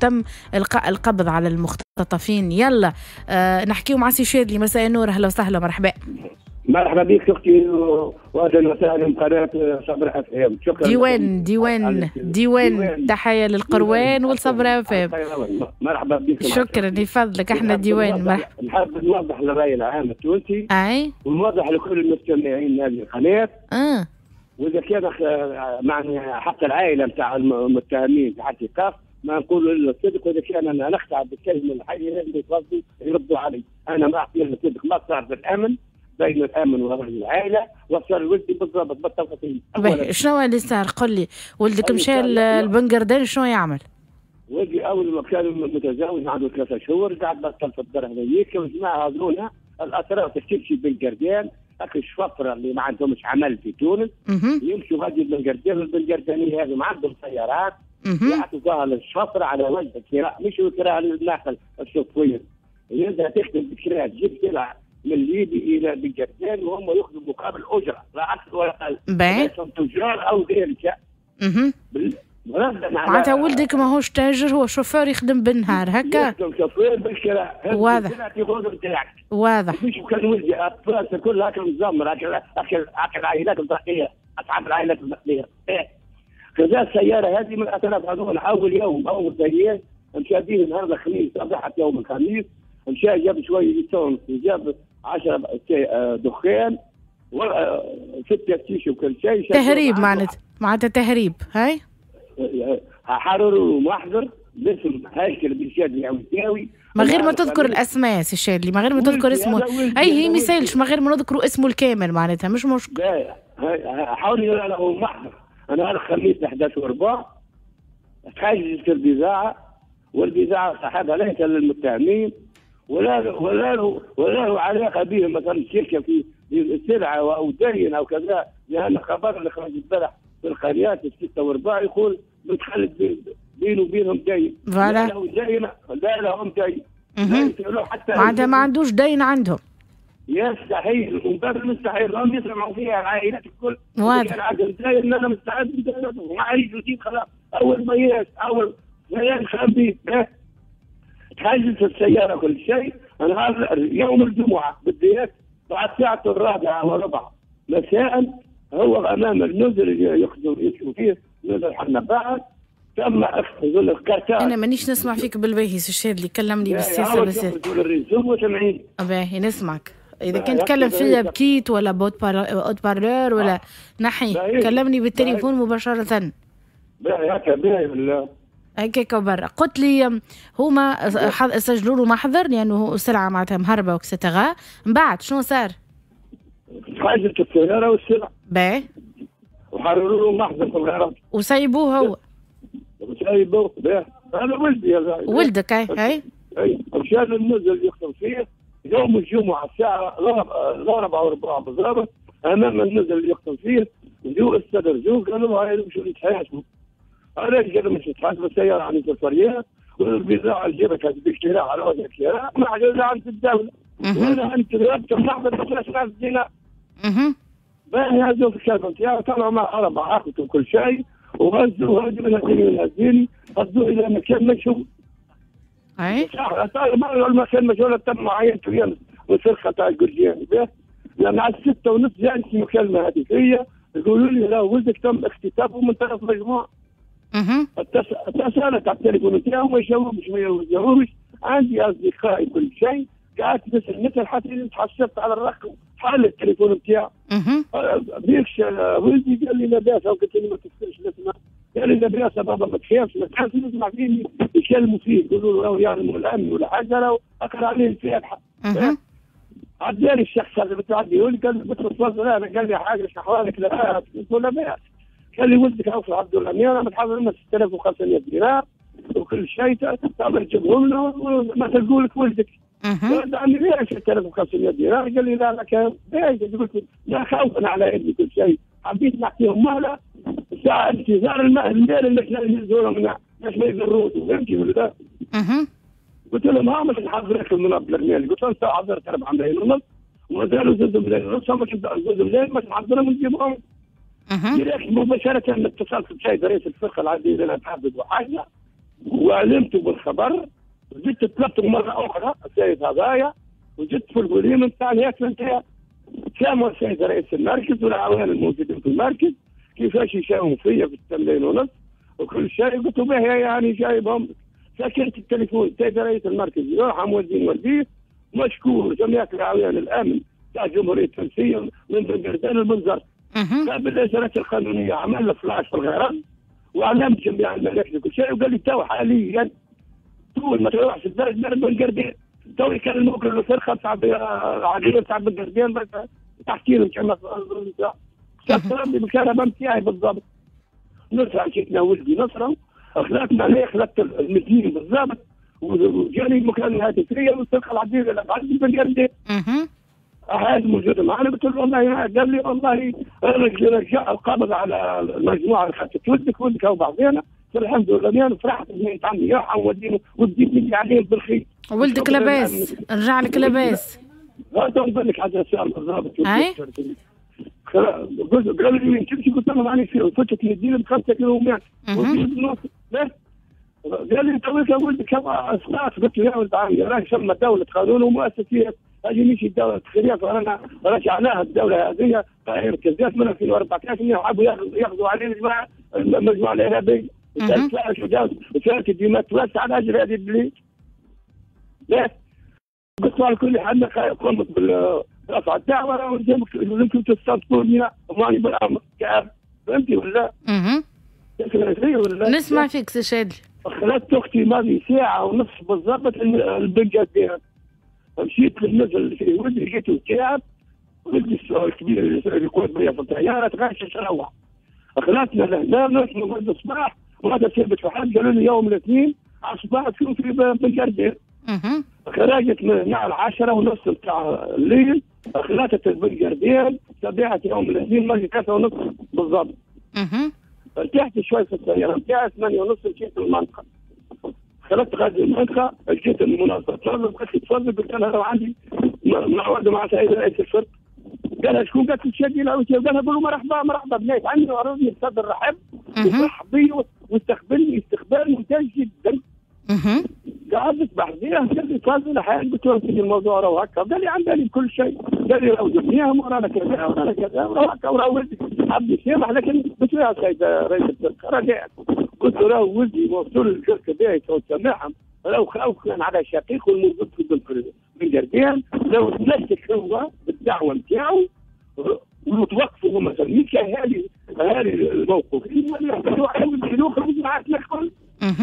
تم القاء القبض على المختطفين. يلا نحكيو مع سي شادلي. مساء النور، اهلا وسهلا، مرحبا. مرحبا بك اختي واهلا وسهلا بقناه صبر اف ام. شكرا. ديوان ديوان ديوان، تحية للقروان والصبر اف ام. مرحبا بك. شكرا لفضلك، احنا ديوان. مرحبا. نحب نوضح للراي العام التونسي ونوضح لكل المستمعين هذه القناة. واذا كان معني حتى العائلة نتاع المتهمين تحت ايقاف ما نقول الا الصدق، واذا كان انا نخدع بالكلمة الحية لازم يتفضلوا يردوا علي. انا ما اعطي الا الصدق، ما صار بالامن بين الامن ورجل العائلة وصار ولدي بالضبط بالتفاصيل. شنو اللي صار؟ قل لي، ولدك مشى للبنقردان شنو يعمل؟ ولدي اول ما كان متزوج عنده 3 شهور قعد بطل في الدار هذيك، وجماعه هذونا الاطراف تمشي بنقردان، هاك الشفرة اللي ما عندهمش عمل في تونس يمشوا غادي بنقردان، والبنقردانيه هذو ما عندهم سيارات يعطوا للشفره على وجه الكراء، مش الكراء للناقل الشوفير، يبدا تخدم بالكراء تجيب سلعه من ليبيا الى بنقردان وهم ياخذوا مقابل اجره لا اكثر ولا اقل، تجار او غيرك. معناتها ولدك ماهوش تاجر، هو شوفير يخدم بالنهار هكا؟ يخدم شوفير بالكراء. واضح واضح. مش كان ولدي اطفال كل هكا مزمر هكا هكا العائلات الضحية، اصحاب العائلات الضحية. خذا السيارة هذه من اطراف هذول. اول يوم اول سيارة مشى به نهار الخميس، صباحة يوم الخميس مشى جاب شوية essence، جاب 10 دخان و6 تيش وكل شيء. تهريب معناتها، معناتها تهريب. هاي حرروا محضر باسم هيكل بن شادلي العوساوي. من غير ما تذكر الاسماء سي شادلي، من غير ما تذكر اسمه. اي هي ما يسالش، من غير ما نذكروا اسمه الكامل معناتها مش مشكل. حاولوا له محضر. انا الخميس 11:15 تحجزت البضاعة، والبضاعه صاحبها ليس للمتهمين ولا له علاقة بهم، مثلا شركة في سلعه او دين او كذا، لان خبر اللي خرج البارح في القريات 6:15 يقول متخلف بينه وبينهم دين. لا له دين، لا لهم دين. معناتها ما عندوش دين عندهم. يستحيل، ومن باب المستحيل هم يسمعوا فيها العائلات الكل. واضح. عندهم دين، انا مستعد ما جديد خلاص. اول ما ياس اول ما خبي تحجزت السيارة كل شيء. نهار يوم الجمعة بالذات بعد الساعة 4:15 مساء هو امام النزل اللي يخدم فيه نزل حنا تم اخذ الكارتات. انا مانيش نسمع فيك بالباهي سي الشادلي، كلمني بالسياسة بس. باهي نسمعك. اذا كنت تكلم فيا بكيت ولا haut-parleur ولا نحي، كلمني بالتليفون مباشرة. باهي هكا باهي بالله هكاك برا. قلت لي هما سجلوا له محضر لانه السلعة معناتها مهربه و et cetera. من بعد شنو صار؟ تحجزت السيارة والسلعه. باهي. وحرروا له محضر في الغرض. وسيبوه هو. وسيبوه باهي. هذا ولدي يا ولدك. اي اي. اي مشى للنزل اللي يخدم فيه يوم الجمعة الساعة 4:15 بالضبط امام النزل اللي يخدم فيه، جو استدرجوه قالوا له هاي مشوا يتحاسبوا. علاش قالوا مش يتحاسبوا؟ السيارة عند الفريق والبضاعه اللي جابتها بالكراء على وجه الكراء ما عندها عند الدولة. وانا عند ربط المحضر ب 13000 دينار. باهي هزوا في الكلب نتاعو، طلعوا مع 4 اخوته وكل شيء وهزوا هزوا من هزيني هزوا الى مكان مشهور. اي المكان مشهور تم معاينته والفرقة تاع الجرجاني. لما على 6:30 جاتني مكالمة هاتفيه يقولوا لي لا ولدك تم اختطافه من طرف مجموعة. اتصلت على التليفون نتاعو ما يجاوبش ما يجاوبش. عندي اصدقائي كل شيء، قعدت نسال نسال حتى تحسبت على الرقم حل التليفون نتاعو. بيكش ولدي قال لي لاباس، قلت له ما تكسرش نسمع. قال لي لاباس بابا ما تخافش ما تخافش، نسمع فيه يكلموا فيه يقولوا له راهو يعلموا الامن ولا حاجة، راهو اقرا عليه الفاتحة. عداني الشخص هذا بتعدي يقول لي قال لي تفضل، انا قال لي حاجة شو احوالك لاباس؟ قلت له لاباس. قال لي ولدك عوف عبد الامير انا متحضر لنا 6500 دينار وكل شيء تعمل تجيبهم له ما تلقوا لك ولدك. قلت عمي ليش 6500 دينار؟ قال لي لا لا كان قلت لا خوفا على ابني كل شيء، حبيت نعطيهم مهله ساعة انتظار المال اللي ينزلوا منها باش ما يضروش، فهمتي ولا لا؟ قلت لهم ها مش نحضر لكم مبلغ مالي، قلت لهم حضرت 4 ملايين ونص ومازالوا 2 ملايين ونص، باش 2 ملايين باش نحضرهم ونجيبهم. direct مباشرة اتصلت بسيد رئيس الفرقة العزيز الحافظ وحاجة، وعلمته بالخبر، وزدت طلبته مرة اخرى السيد هذايا، وزدت في الوليمة نتاع الهاتف نتاعي. ساموا السيد رئيس المركز والعوان الموجودين في المركز كيفاش يساوموا فيا في 8.5 ملايين وكل شيء. قلت له باهي يعني جايبهم. سكرت التليفون. السيد رئيس المركز يرحم والدين والديه، مشكور جميع الأعوان الأمن تاع الجمهورية التونسية من بنقردان لبنزرت. بالإجراءات القانونية عمل فلاش في الغرام وعلمت جميع المراكز وكل شيء، وقال لي تو حاليا طول ما تروحش الدرج بنقردان تو يكلموك الفرقة تاع العقيدة تاع بنقردان تحكي لهم كما سكرني بالكهرباء نتاعي بالضبط. نصرة مشيت ولدي نصرة خلطنا عليه، خلطت المدين بالضبط، وجاني المكالمة الهاتفية والفرقة العديدة اللي بعد بنقردان. هذا موجود معنا. قلت له والله، قال لي والله رجع القبض على المجموعة اللي خدت ولدك ولدك وبعضينا. الحمد لله انا فرحت بنت عمي يرحم والدينه وديت عليهم بالخير. ولدك لاباس، رجع لك لاباس؟ لا نقول لك حاجة سؤال بالضبط. قالوا لي وين تمشي؟ قلت لهم راني في فتت المدينة ب5 كيلومتر. قال لي تويك ولدك اسقاط. قلت له يا ولد عمي راهي ثم دولة قانون ومؤسسات، هذه مش الدولة الخلية، رانا رجعناها الدولة هذه مركزات من 2014 يحبوا ياخذوا علينا الجماعة المجموعة الإرهابية. وسالت الدماء توسع على أجل هذه البلاد. لا قلت على كل حال قمت برفع الدعوة يمكن تستنطقوني وماني بالأمر كأب. فهمتي ولا؟ ولا؟ نسمع فيك سي شادلي. خلت أختي ماضي ساعة ونص بالضبط البنقردان. مشيت للنزل في ولدي لقيته تعب، ولدي الكبير اللي يقود بيا في الطيارة تغشش روح. خلاتنا لهنا نرقد الصباح وهذا ثبت في حد. قالوا لي يوم الاثنين على الصباح تكون في بنقردان. خرجت من هنا على 10:30 نتاع الليل، خلاتت البنقردان صبيحة يوم الاثنين ماجي 3:30 بالضبط. ارتحت شوي في السيارة نتاعي 8:30 مشيت للمنطقة. خلطت غادي المنطقة لقيت المنظمة تفضل، قالت لي تفضل. قلت لها راه عندي موعد مع سيد رئيس الفرق. قالها شكون؟ قالت لي الشادي العوسي. قالها قولوا مرحبا مرحبا بنات عندي وعرضني بصدر رحب وفرح بي واستقبلني استقبال ممتاز جدا. قعدت بحذيه قال لي تفضل. قلت له سيدي الموضوع راه هكا. قال لي عن بالي بكل شيء. قال لي راهو جبناهم ورانا كذا ورانا كذا وراهو هكا وراهو ولدي حب يسامح، لكن قلت له يا سيد رئيس الفرقة رجاء. قلت له راهو ولدي موصول الجرك باهي سامحهم، راهو خوف كان على شقيقه الموجود في بنقردان، لو تمسك هو بالدعوة نتاعو وتوقفوا هما مثلا هذه الموقف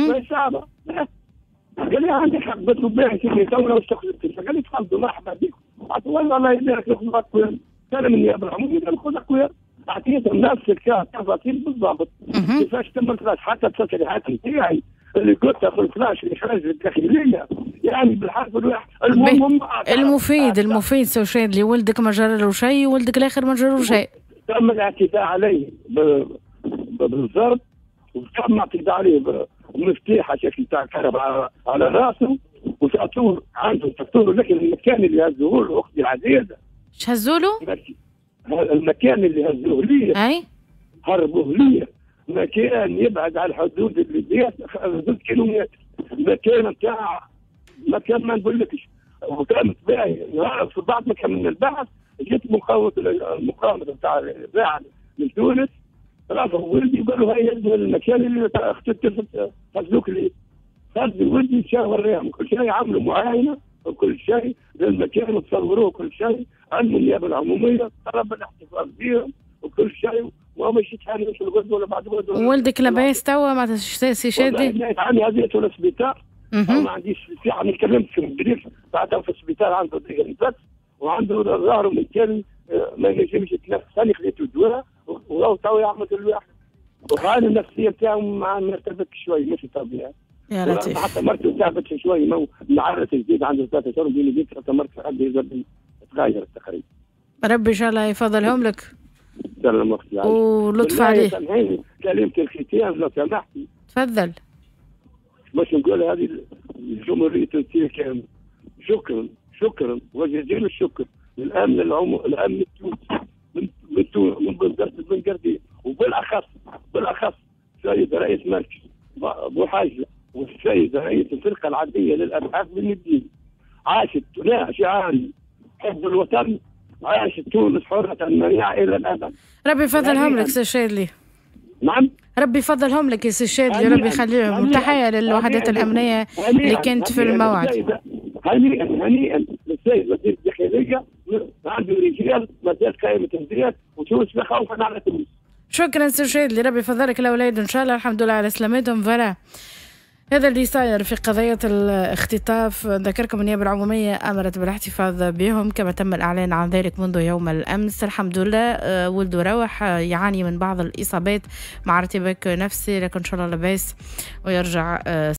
ما صعبة. قال لي عندك حق. قلت له باهي سيدي تو واش قال لي تفضلوا مرحبا بكم. والله الله يبارك لكم. اقوياء كان من النيابة العمومية قال خذ اقوياء. اعطيتهم نفس التفاصيل بالضبط كيفاش تم الفلاش، حتى التصريحات نتاعي اللي قلتها في الفلاش اللي خرج الداخلية يعني بالحرف الواحد. المهم المفيد سي شادلي ولدك ما جرى له شيء وولدك الاخر ما جرى له شيء. تم الاعتداء عليه بالضرب، وتم الاعتداء عليه بمفتاح شكل تاع الكهرباء على راسه، وتعطوه عنده تعطوه، لكن المكان اللي هزوه له اختي العزيزة. اش هزوا له؟ المكان اللي هزوه لي اي هربوه لي مكان يبعد على الحدود الليبية 2 كيلومتر، مكان نتاع مكان ما نقولكش. وكانت باهي في بعض ما كملنا البحث جت المقاومة نتاع الباعث من تونس، رافعوا ولدي وقالوا هيا المكان اللي خذوك لي. خذ ولدي مشى وريهم كل شيء، عملوا معاينة وكل شيء للمكان وتصوروه كل شيء، علموا النيابة العمومية طلب الاحتفاظ بهم وكل شيء، وما يتهانوش الغد ولا بعد غد. ولدك لاباس توا ما سي شادي؟ عندي هذه للسبيطار، ما عنديش ساعة ما كلمتش في البريف، بعدها في السبيطار عنده ضيق النفس وعنده ظهره من ما ينجمش يتنفس، انا خذيته الدواء وهو تو يعمل الواحد، وحاله النفسية نتاعو مرتبك شوي مش طبيعي. يا لطيف. حتى مرته تعبت شوي، معرس جديد عنده 3 شهور بين يديك، حتى مرته حد تغيرت تقريبا. ربي ان شاء الله يفضلهم لك. سلام اختي. ولطف عليه. سامحيني كلمة الختام لو سمحتي. تفضل. باش نقول هذه الجمهورية التونسية كاملة شكرا شكرا وجزيل الشكر للامن الامن التونسي من بنزرت بن قردين، وبالاخص بالاخص سيد رئيس مركز بوحاجه والسيد رئيس الفرقة العدليه للابحاث بالمدينة. عاشت لا شعاري حب الوطن، عاشت تونس حرة منيعة إلى الأبد. ربي يفضلهم لك سي الشاذلي. نعم، ربي يفضلهم لك يا سي الشاذلي، ربي يخليهم. تحية للوحدات الأمنية اللي كانت في الموعد. هنيئا هنيئا للسيد وزير الداخلية، عنده رجال مازال قائمة الرجال، وتونس لا خوفا على تونس. شكرا سي الشاذلي، ربي يفضلك الأولاد إن شاء الله، الحمد لله على سلامتهم. voilà هذا اللي صاير في قضية الاختطاف. ذكركم النيابة العمومية أمرت بالاحتفاظ بهم كما تم الإعلان عن ذلك منذ يوم الأمس. الحمد لله ولده روح، يعاني من بعض الإصابات مع ارتباك نفسي، لكن إن شاء الله لاباس ويرجع.